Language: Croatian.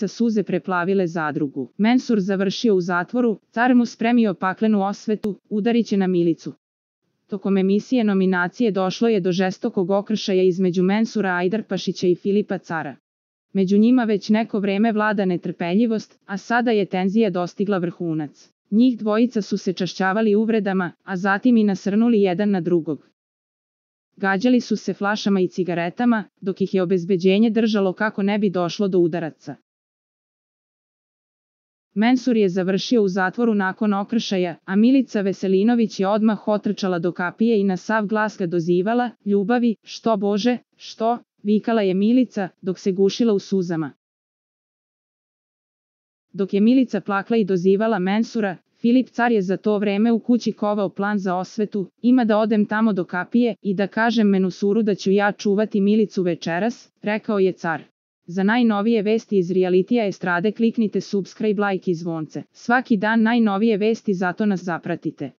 dvojica suze preplavile zadrugu. Mensur završio u zatvoru, car mu spremio paklenu osvetu, udariće na Milicu. Tokom emisije nominacije došlo je do žestokog okršaja između Mensura Ajdarpašića i Filipa Cara. Među njima već neko vreme vlada netrpeljivost, a sada je tenzija dostigla vrhunac. Njih dvojica su se čašćavali uvredama, a zatim i nasrnuli jedan na drugog. Gađali su se flašama i cigaretama, dok ih je obezbeđenje držalo kako ne bi došlo do udaraca. Mensur je završio u zatvoru nakon okršaja, a Milica Veselinović je odmah otrčala do kapije i na sav glas ga dozivala: "Ljubavi, što Bože, što?" vikala je Milica, dok se gušila u suzama. Dok je Milica plakla i dozivala Mensura, Filip Car je za to vreme u kući kovao plan za osvetu: "Ima da odem tamo do kapije i da kažem Mensuru da ću ja čuvati Milicu večeras", rekao je car. Za najnovije vesti iz realitija estrade kliknite subscribe, like i zvonce. Svaki dan najnovije vesti, zato nas zapratite.